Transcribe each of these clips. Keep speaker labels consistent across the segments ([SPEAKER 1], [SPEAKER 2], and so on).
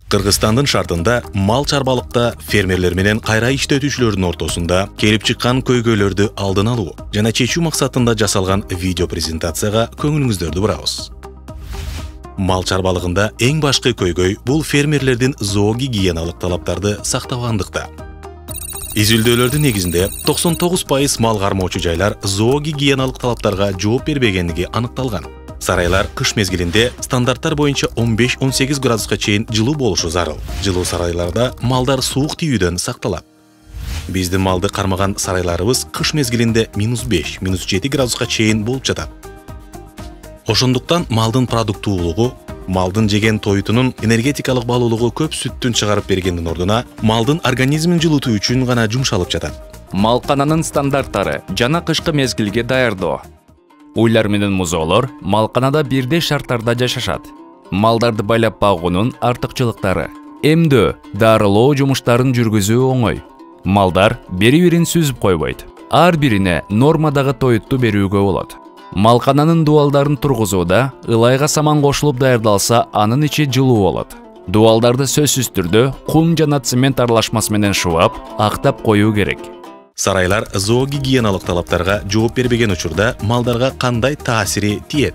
[SPEAKER 1] Кыргызстандын шартында мал чарбалыкта фермерлер менен кайра иштетүүчүлөрдүн ортосунда келип чыккан көйгөйлөрдү алдын алуу жана чечүү максатында жасалган видео презентацияга көңүлүңүздөрдү бурабыз. Мал чарбалыгында эң башкы көйгөй бул фермерлердин зоогигиеналык талаптарды сактабагандыкта. Изилдөөлөрдүн негизинде 99% мал кармоочу жайлар зоогигиеналык талаптарга жооп бербегендиги аныкталган. Сарайлар кыш мезгилинде стандарттар боюнча 15-18 градуска чейин жылуу болушу зарыл. Жылуу сарайларда малдар суук тийүүдөн сакталат. Биздин малды кармаган сарайларыбыз кыш мезгилинде -5, -7 градуска чейин болуп жатат. Ошондуктан малдын продуктуулугу, малдын жеген тоютунун энергетикалык балуулугу көп сүттүн чыгарып бергендин ордуна малдын организмин жылытуу үчүн гана жумшалып жатат.
[SPEAKER 2] Малкананын стандарттары жана кышкы мезгилге даярдоо. Уйлар менен музоолор малканада бирдей шарттарда жашашат. Малдарды байлап багуунун артыкчылыктары. Эмдөө, дарылоо жумуштарын жүргүзүү оңой. Малдар бири-бирин сүзүп койбойт. Ар бирине нормадагы тоютту берүүгө болот. Малкананын дубалдарын тургузууда ылайга саман кошулуп даярдалса, анын ичи жылуу болот. Дубалдарды сөзсүз түрдө кум жана цемент аралашмасы менен шубап, актап коюу керек.
[SPEAKER 1] Сарайлар зоогигиеналык талаптарга жооп бербеген учурда малдарга кандай таасири тиет?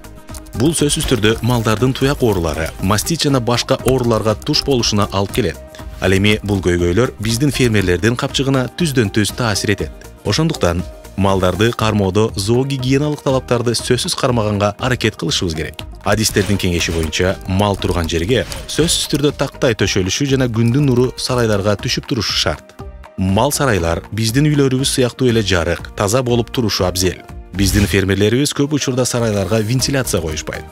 [SPEAKER 1] Бул сөзсүз түрдө малдардын туяк оорулары, мастит жана башка ооруларга туш болушуна алып келет. Ал эми бул көйгөйлөр биздин фермерлердин капчыгына түздөн-түз таасир этет. Ошондуктан малдарды кармоодо зоогигиеналык талаптарды сөзсүз кармаганга аракет кылышыбыз керек. Адистердин кеңеши боюнча мал турган жерге сөзсүз түрдө тактай төшөлүшү жана күндүн нуру сарайларга түшүп турушу шарт. Мал сарайлар биздин үйлөрүбүз сыяктуу эле жарык, таза болуп турушу абзел. Биздин фермерлерибиз көп учурда сарайларга вентиляция коюшпайт.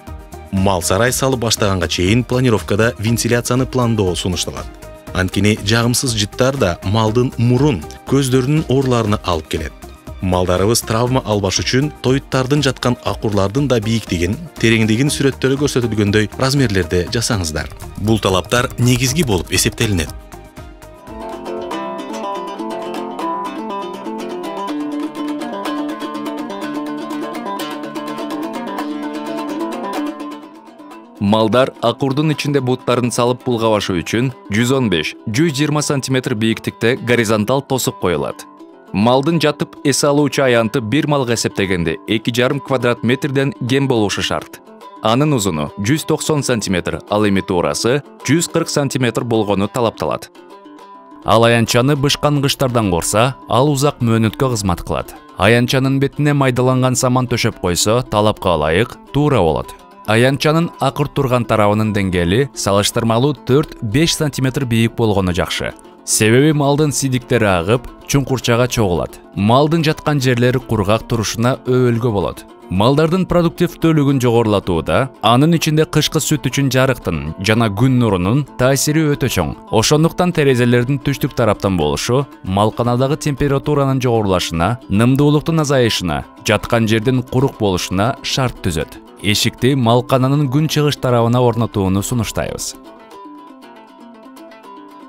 [SPEAKER 1] Мал сарай салып баштаганга чейин планировкада вентиляцияны пландоо сунушталат. Анткени жагымсыз жыттар да малдын мурун, көздөрүнүн ооруларына алып келет. Малдарыбыз травма албаш үчүн тоюттардын жаткан акурлардын да бийиктигин, тереңдигин сүрөттөрү көрсөтүлгөндөй размерлерде жасаңыздар. Бул талаптар негизги болуп эсептелинет.
[SPEAKER 2] Малдар акурдун ичинде буттарын салып булгабашы үчүн 115-120 см бийиктикте горизонтал тосук коюлат. Малдын жатып эс алуучу аянты бир малга эсептегенде 2,5 квадрат метрден кем болушу шарт. Анын узуну 190 см, ал эми туурасы 140 см болгону талапталат. Ал аянчаны бышкангычтардан корса, ал узак мөөнөткө кызмат кылат. Аянчанын бетине майдаланган саман төшөп койсо, талапка ылайык туура болот. Аянчанын акырт турган тарабынын деңгээли салыштырмалуу 4-5 см бийик болгону жакшы. Себеби малдын сидиктери агып, чуңкурчага чогулат. Малдын жаткан жерлери кургак турушуна өбөлгө болот. Малдардын продуктивдүүлүгүн жогорулатууда, анын ичинде кышкы сүт үчүн жарыктын жана күн нурунун таасири өтө чоң. Ошондуктан терезелердин түштүк тараптан болушу малканадагы температуранын жогорулашына, нымдуулуктун азайышына, жаткан жердин курук болушуна шарт түзөт. Эшикти малкананын күн чыгыш тарабына орнотууну сунуштайбыз.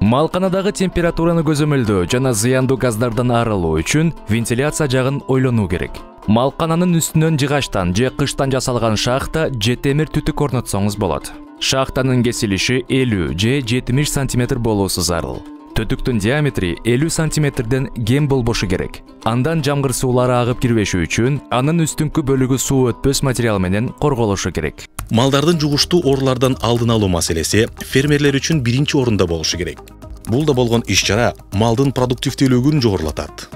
[SPEAKER 2] Малканадагы температураны көзөмөлдөө жана зыяндуу газдардан арылуу үчүн вентиляция жагын ойлонуу керек. Малкананын үстүнөн жыгачтан же кыштан жасалган шахта же темир түтүк орнотсоңуз болот. Шахтанын кесилиши 50 же 70 см болуусу зарыл. Түтүктүн диаметри 50 см кем болбошу керек. Андан жамгыр суулары агып кирбеши үчүн анын үстүнкү бөлүгү суу өтпөс материал менен корголушу керек.
[SPEAKER 1] Малдардын жугуштуу оорулардан алдын алуу маселеси фермерлер үчүн биринчи орунда болушу керек. Бул да болгон иш-чара малдын продуктивдүүлүгүн жогорулатат.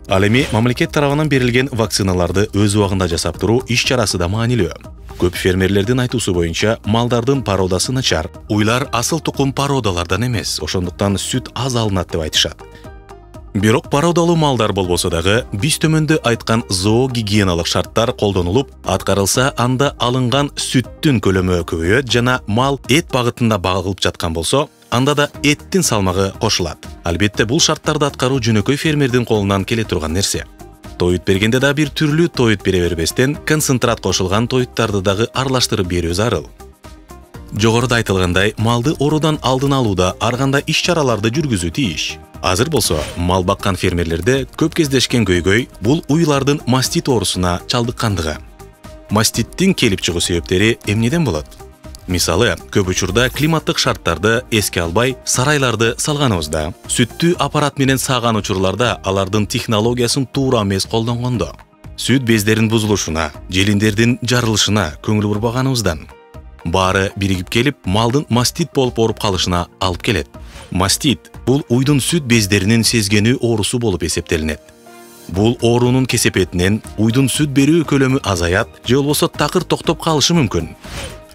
[SPEAKER 1] Ал эми мамлекет тарабынан берилген вакциналарды өз убагында жасап туруу иш-чарасы да маанилүү. Көп фермерлердин айтуусу боюнча малдардын породасы начар. Уйлар асыл тукум породалардан эмес, ошондуктан сүт аз алынат деп айтышат. Бирок породалуу малдар болбосо дагы биз төмөндө айткан зоогигиеналык шарттар колдонулуп, аткарылса, анда алынган сүттүн көлөмү көбөйөт жана мал эт багытында багылып жаткан болсо, анда да эттин салмагы кошулат. Албетте бул шарттарды аткаруу жөнөкөй фермердин колунан келе турган нерсе. Тоют бергенде да бир түрлүү тоют бере бербестен, концентрат кошулган тоюттарды дагы аралаштырып берүү зарыл. Жогоруда айтылгандай, малды оорудан алдын алууда ар кандай иш-чараларды жүргүзүү тийиш. Азыр болсо, мал баккан фермерлерде көп кездешкен көйгөй бул уйлардын мастит оорусуна чалдыккандыгы. Маститтин келип чыгуу себептери эмнеден болот? Мисалы, көп учурда климаттык шарттарды эске албай сарайларды салганыбызда, сүттү аппарат менен сааган учурларда алардын технологиясын туура эмес колдонгондо, сүт бездеринин бузулушуна, желиндердин жарылышына көңүл бурбаганыбыздан баары биригип келип, малдын мастит болуп ооруп калышына алып келет. Мастит бул уйдун сүт бездеринин сезгенүү оорусу болуп эсептелинет. Бул оорунун кесепетинен уйдун сүт берүү көлөмү азаят, же болбосо такыр токтоп калышы мүмкүн.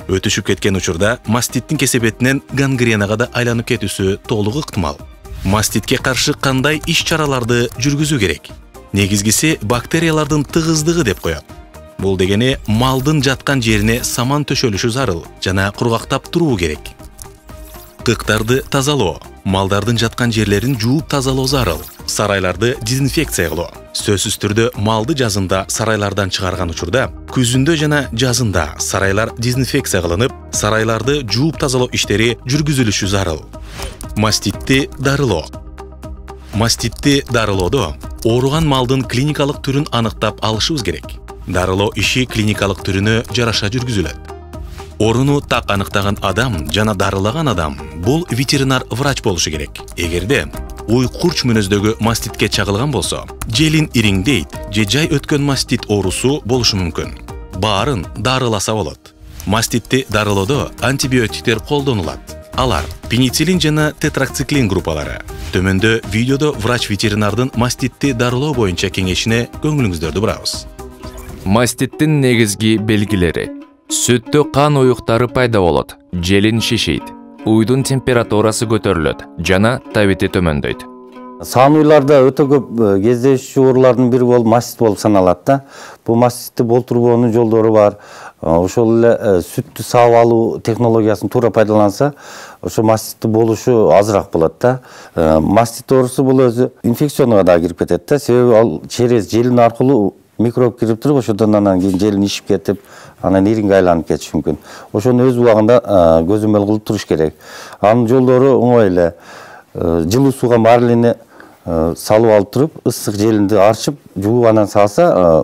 [SPEAKER 1] Өтүшүп кеткен учурда маститтин кесепетинен гангренага да айланып кетүүсү толук ыктымал. Маститке каршы кандай иш-чараларды жүргүзүү керек? Негизгиси бактериялардын тыгыздыгы деп коет. Бул дегени малдын жаткан жерине саман төшөлүшү зарыл жана кургактап туруу керек. Кыктарды тазалоо, малдардын жаткан жерлерин жууп тазалоо зарыл. Сарайларды дезинфекция кылуу. Сөзсүз түрдө малды жазында сарайлардан чыгарган учурда, күзүндө жана жазында сарайлар дезинфекция кылынып, сарайларды жууп тазалоо иштери жүргүзүлүшү зарыл. Маститти дарылоо. Маститти дарылоодо ооруган малдын клиникалык түрүн аныктап алышыбыз керек. Дарылоо иши клиникалык түрүнө жараша жүргүзүлөт. Оруну так аныктаган адам жана дарылаган адам бул ветеринар врач болушу керек. Эгерде уй курч мүнөздөгү маститке чагылган болсо, желин ириңдейт же жай өткөн мастит оорусу болушу мүмкүн. Баарын дарыласа болот. Маститти дарылоодо антибиотиктер колдонулат. Алар пенициллин жана тетрациклин группалары. Төмөндө видеодо врач-ветеринардын маститти дарылоо боюнча кеңешине көңүлүңүздөрдү бурабыз.
[SPEAKER 2] Маститтин негизги белгилери: сүттө кан уюктары пайда болот, желин шишийт, уйдун температурасы көтөрүлөт жана табити төмөндөйт.
[SPEAKER 3] Саан уйларда өтө көп кездешүү оорулардын бири болуп мастит болуп саналат да. Бул маститти болтурбоонун жолдору бар. Ошол эле сүттү саап алуу технологиясын туура пайдаланса, ошо маститти болушу азыраак болот да. Мастит оорусу бул өзү инфекционга да кирип кетет да. Себеби ал через желин аркылуу микроб кирип туруп, ошодон анан кийин желин ишип кетип, анан иринге айланып кетиши мүмкүн. Ошону өз убагында көзөмөл кылып туруш керек. Анын жолдору оңой эле. Жылуу сууга марлени салып алып туруп, ысык желинди арчып, жууп анан салса,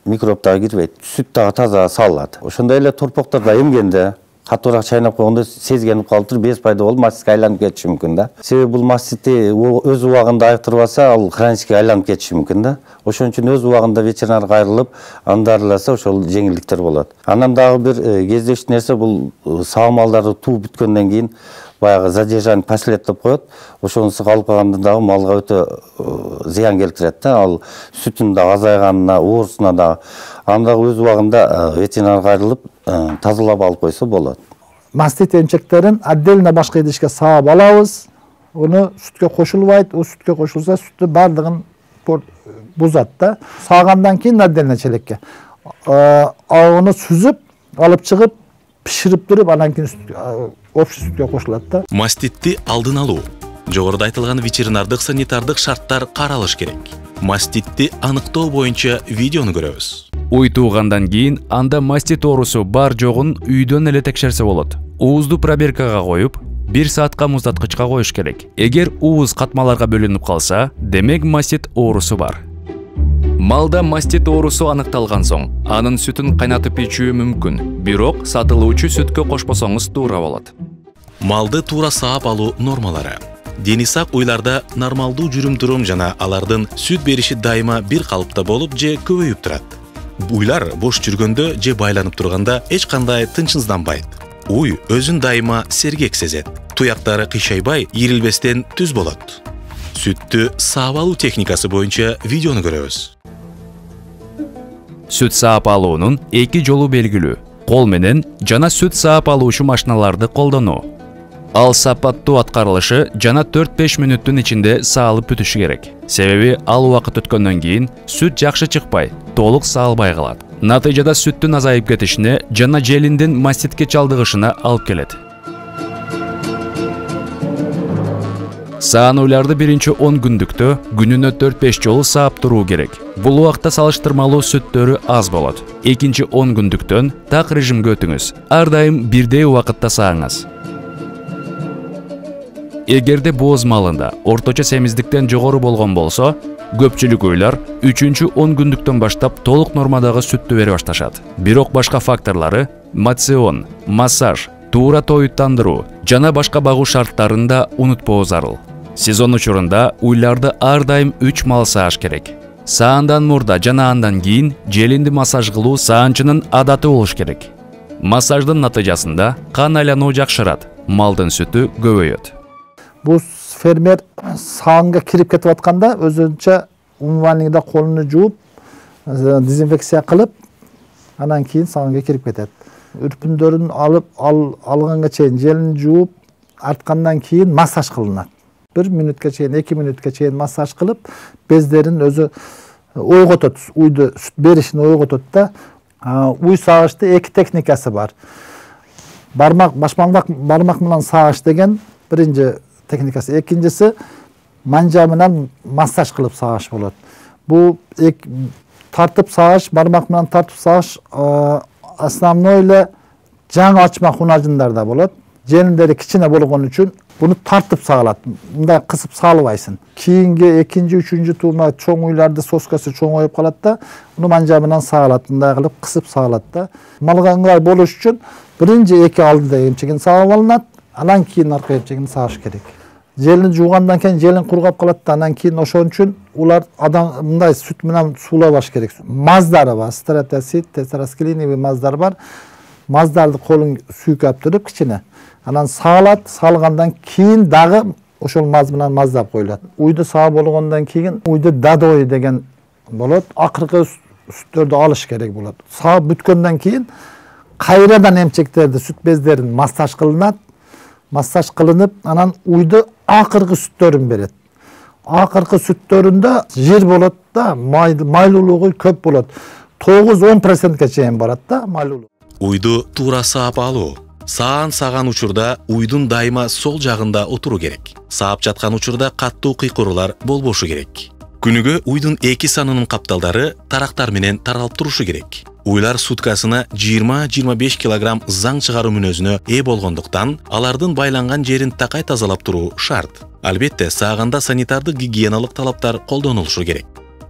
[SPEAKER 3] микроб дагы кирбейт. Сүт дагы таза салынат. Ошондой эле торпоктарда эмгенде, катуураак чайнап койгондо сезгенип калып туруп, без пайда болуп, маститке айланып кетиши мүмкүн да. Себеби бул маститти өз убагында айыктырбаса, ал хронический айланып кетиши мүмкүн да. Ошон үчүн өз убагында ветеринарга кайрылып, аны дарыласа, ошол жеңилдиктер болот. Анан дагы бир кездешүү нерсе бул саа малдарды тууп бүткөндөн кийин баягы задержание последствий деп коет. Ошонусу калып калганда дагы малга өтө зыян келтирет да. Ал сүтүн дагы азайганына, оорусуна дагы. Аны дагы өз убагында ветеринарга кайрылып, тазалап алып койсо болот.
[SPEAKER 4] Мастит эмчектерин отдельно башка идишке саап алабыз. Уну сүткө кошулбайт. У сүткө кошулса, сүттү бардыгын бузат да. Саагандан кийин отдельно челекке. Аны сүзүп, алып чыгып, пиширип туруп, анан кийин общий сүткө кошулат да.
[SPEAKER 1] Маститти алдын алуу. Жогоруда айтылган ветеринардык санитардык шарттар каралыш керек. Маститти аныктоо боюнча видеону көрөбүз.
[SPEAKER 2] Уй туугандан кийин анда мастит оорусу бар жогун үйдөн эле текшерсе болот. Уузду пробиркага коюп, 1 саатка муздаткычка коюш керек. Эгер ууз катмаларга бөлүнүп калса, демек мастит оорусу бар. Малда мастит оорусу аныкталган соң, анын сүтүн кайнатып ичүү мүмкүн, бирок сатылуучу сүткө кошпосоңуз туура болот.
[SPEAKER 1] Малды туура саап алуу нормалары. Дени сак уйларда нормалдуу жүрүм-турум жана алардын сүт бериши дайыма бир калыпта болуп же көбөйүп турат. Уйлар бош жүргөндө же байланып турганда эч кандай тынчсызданбайт. Уй өзүн дайыма сергек сезет. Туяктары кыйшайбай, ирилбестен түз болот. Сүттү саап алуу техникасы боюнча видеону көрөбүз.
[SPEAKER 2] Сүт саап алуунун 2 жолу белгилүү: кол менен жана сүт саап алуучу машиналарды колдонуу. Ал сапаттуу аткарылышы жана 4-5 мүнөттүн ичинде саалып бүтүшү керек. Себеби ал убакыт өткөндөн кийин сүт жакшы чыкпай, толук саалбай калат. Натыйжада сүттүн азайып кетишине жана желиндин маститке чалдыгышына алып келет. Саанууларды биринчи 10 күндүктө күнүнө 4-5 жолу саап туруу керек. Бул убакта салыштырмалуу сүттөрү аз болот. Экинчи 10 күндүктөн так режимге өтүңүз. Ар дайым бирдей убакытта сааңыз. Эгерде бооз малында орточо семиздиктен жогору болгон болсо, көпчүлүк уйлар 3-10 күндүктөн баштап толук нормадагы сүттү бере башташат. Бирок башка факторлары — мацион, массаж, туура тоюттандыруу жана башка багуу шарттарын да унутпоо зарыл. Сезон учурунда уйларды ар дайым 3 мал сааш керек. Саандан мурда жана андан кийин желинди массаж кылуу саанчынын адаты болуш керек. Массаждын натыйжасында кан айлануу жакшырат, малдын сүтү көбөйөт.
[SPEAKER 4] Бул фермер саанга кирип кетип атканда өзүнчө умывальныйда колуну жууп, дезинфекция кылып, анан кийин саанга кирип кетет. Үрпүндөрүн алганга чейин желин жууп, арткандан кийин массаж кылынат. 1 минутка чейин, 2 минутка чейин массаж кылып, бездерин өзү ойготот, уйду сүт беришин ойготот да. Уй сагышты 2 техникасы бар. Башмак менен сагыш деген биринчи техникасы, экинчиси манжа менен массаж кылып сагыш болот. Бул тартып сагыш, бармак менен тартып сагыш основной эле жаңы ачмак унажындарда болот. Желиндери кичине болгон үчүн буну тартып сагалат. Мындай кысып саалбайсың. Кийинки экинчи, үчүнчү туума чоң уйларды соскасы чоңоюп калат да, буну манжа менен сагалат, мындай кылып кысып сагалат да. Малга ыңгай болуш үчүн биринчи 2 алдыда эмчегин сагып алынат, анан кийин арка эмчегин сагыш керек. Желин жуугандан кийин желин кургап калат да, анан кийин ошон үчүн улар адам мындай сүт менен суулабаш керек. Маздары бар, стратосит, тетрасклиновый маздар бар. Маздарды колун сүйкөп туруп кичине. Анан саалат, салгандан кийин дагы ошол маз менен маздап коюлат. Уйду саап болгондон кийин уйду дадой деген болот. Акыркы сүттөрдү алыш керек болот. Саап бүткөндөн кийин кайрадан эмчектерди, сүт бездерин массаж кылынат. Массаж кылынып, анан уйду акыркы сүттөрүн берет. Акыркы сүттөрүндө жир болот да, майлуулугу көп болот. 9-10%ке чейин барат да майлуулук.
[SPEAKER 1] Уйду туура саап алуу. Саан саган учурда уйдун дайыма сол жагында отуруу керек. Саап жаткан учурда каттуу кыйкыруулар болбошу керек. Күнүгө уйдун 2 санынын капталдары тарактар менен таралып турушу керек. Уйлар суткасына 20-25 килограмм заң чыгаруу мүнөзүнө ээ болгондуктан, алардын байланган жерин такай тазалап туруу шарт. Албетте, сааганда санитардык гигиеналык талаптар колдонулушу керек.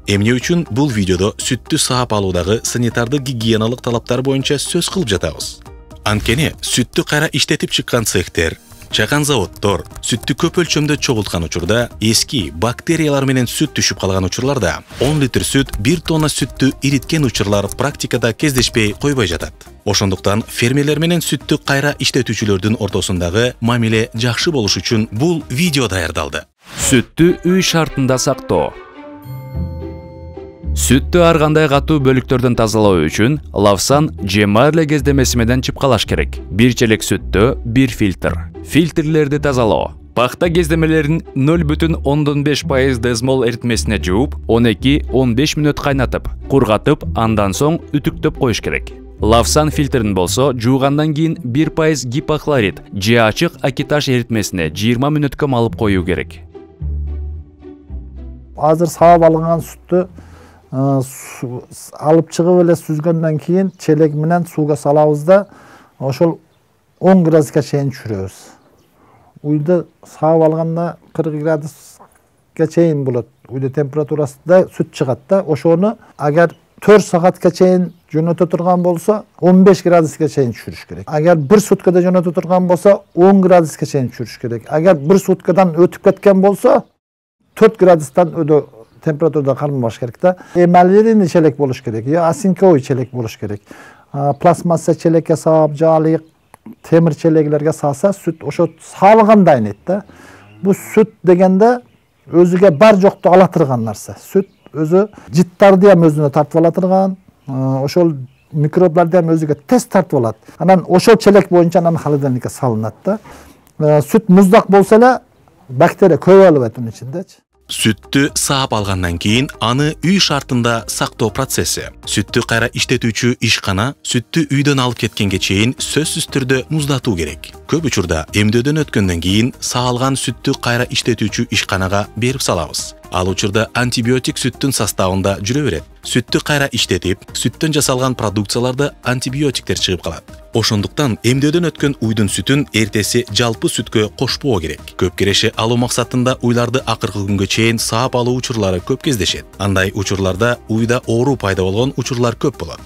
[SPEAKER 1] Эмне үчүн бул видеодо сүттү саап алуудагы санитардык гигиеналык талаптар боюнча сөз кылып жатабыз. Анткени сүттү кайра иштетип чыккан цехтер, чакан заводдор сүттү көп өлчөмдө чогулткан учурда эски бактериялар менен сүт түшүп калган учурларда 10 литр сүт 1 тонна сүттү ириткен учурлар практикада кездешпей койбой жатат. Ошондуктан фермерлер менен сүттү кайра иштетүүчүлөрдүн ортосундагы мамиле жакшы болуш үчүн бул видео даярдалды.
[SPEAKER 2] Сүттү үй шартында сактоо. Сүттү ар кандай катуу бөлүктөрдөн тазалоо үчүн лавсан же марле кездемеси менен чыпкалаш керек. 1 челек сүттө 1 фильтр. Фильтрлерди тазалоо. Пахта кездемелерин 0,5% дезмол эритмесине жууп, 12-15 мүнөт кайнатып, кургатып, андан соң үтүктөп коюш керек. Лавсан фильтрин болсо, жуугандан кийин 1% гипохлорид же ачык акиташ эритмесине 20 мүнөткө малып коюу керек.
[SPEAKER 4] Азыр саап алынган сүттү алып чыгып эле сүзгөндөн кийин челек менен сууга салабыз да, ошол 10 градуска чейин түшүрөбүз. Уйду саап алганда 40 градуска чейин болот. Уйду температурасында сүт чыгат да, ошону агар 4 саатка чейин жөнөтө турган болсо 15 градуска чейин түшүрүш керек. Агар 1 суткада жөнөтө турган болсо 10 градуска чейин түшүрүш керек. Агар 1 суткадан өтүп кеткен болсо 4 градустан температурада кармабаш керек да. Эмалирный челек болуш керек, я осинковый челек болуш керек. Пластмасса челекке саап, жаалык темир челеглерге сааса сүт ошо саалганда айнет да. Бул сүт дегенде өзүгө бар жокту ала турган нарса. Сүт өзү жыттарды ham өзүнө тартып ала турган, ошол микробларды ham өзүгө тез тартып алат. Анан ошол челек боюнча анан холодильникке салынат да. Сүт муздак болсо эле бактерия көп алып атат ичиндечи.
[SPEAKER 1] Сүттү саап алгандан кийин аны үй шартында сактоо процесси. Сүттү кайра иштетүүчү ишкана сүттү үйдөн алып кеткенге чейин сөзсүз түрдө муздатуу керек. Көп учурда эмдөөдөн өткөндөн кийин саалган сүттү кайра иштетүүчү ишканага берип салабыз. Ал учурда антибиотик сүттүн составында жүрө берет. Сүттү кайра иштетип, сүттөн жасалган продукцияларды антибиотиктер чыгып калат. Ошондуктан эмдөөдөн өткөн уйдун сүтүн эртеси жалпы сүткө кошпоо керек. Көп киреше алуу максатында уйларды акыркы күнгө чейин саап алуу учурлары көп кездешет. Андай учурларда уйда оору пайда болгон учурлар көп болот.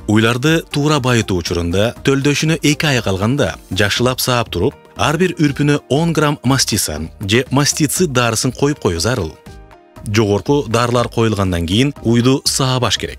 [SPEAKER 1] Уйларды туура байытуу учурунда төлдөшүнө 2 ай калганда жакшылап саап туруп, ар бир үрпүнө 10 грамм мастисан же мастицид дарысын коюп коюу зарыл. Жогорку дарылар коюлгандан кийин уйду саабаш керек.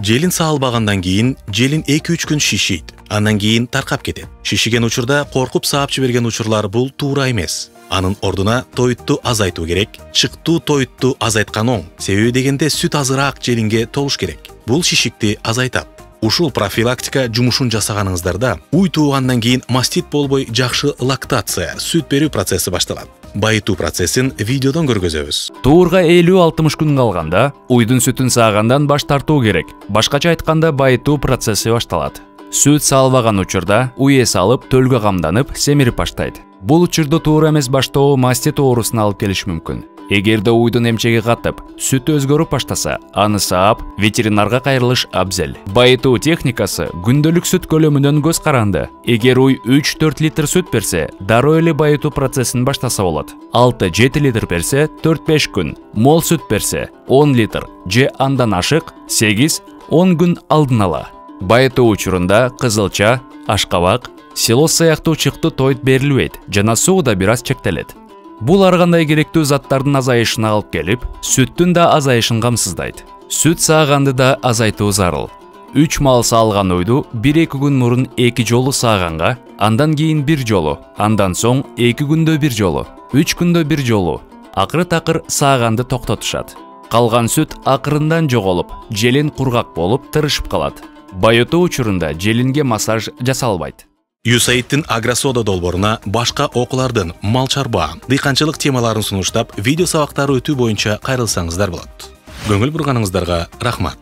[SPEAKER 1] Желин саалбагандан кийин желин 2-3 күн шишийт, андан кийин таркап кетет. Шишиген учурда коркуп саап жиберген учурлар бул туура эмес. Анын ордуна тоютту азайтуу керек. Чыктуу тоютту азайткан оң. Себеби дегенде сүт азыраак желинге толуш керек. Бул шишикти азайтат. Ушул профилактика жумушун жасаганыңыздарда уй туугандан кийин мастит болбой жакшы лактация, сүт берүү процесси башталат. Байытуу процессин видеодон көргөзөбүз.
[SPEAKER 2] Туурга 50-60 күн калганда уйдун сүтүн саагандан баш тартуу керек. Башкача айтканда байытуу процесси башталат. Сүт саалбаган учурда уй эс алып, төлгө камданып, семирип баштайт. Бул учурда туура эмес баштоо мастит оорусуна алып келиши мүмкүн. Эгерде уйдун эмчеги катып, сүт өзгөрүп баштаса, аны саап, ветеринарга кайрылыш абзел. Байытуу техникасы күндөлүк сүт көлөмүнөн көз каранды. Эгер уй 3-4 литр сүт берсе, дароо эле байытуу процессин баштаса болот. 6-7 литр берсе, 4-5 күн. Мол сүт берсе, 10 литр же андан ашык 8-10 күн алдын ала. Байытуу учурунда кызылча, ашкабак, силос сыяктуу чыкты тоют берилбейт жана суу да бир аз чектелет. Бул ар кандай керектүү заттардын азайышына алып келип, сүттүн да азайышын камсыздайт. Сүт сааганды да азайтуу зарыл. 3 мал саалган уйду 1-2 күн мурун 2 жолу сааганга, андан кийин 1 жолу, андан соң 2 күндө 1 жолу, 3 күндө 1 жолу. Акыры-такыр сааганды токтотушат. Калган сүт акырындан жоголуп, желин кургак болуп тырышып калат. Байытуу учурунда желинге массаж жасалбайт.
[SPEAKER 1] USAID-тин Агросода долбооруна башка окуулардын мал чарба, дыйканчылык темаларын сунуштап, видео сабактары өтүү боюнча кайрылсаңыздар болот. Көңүл бурганыңыздарга рахмат.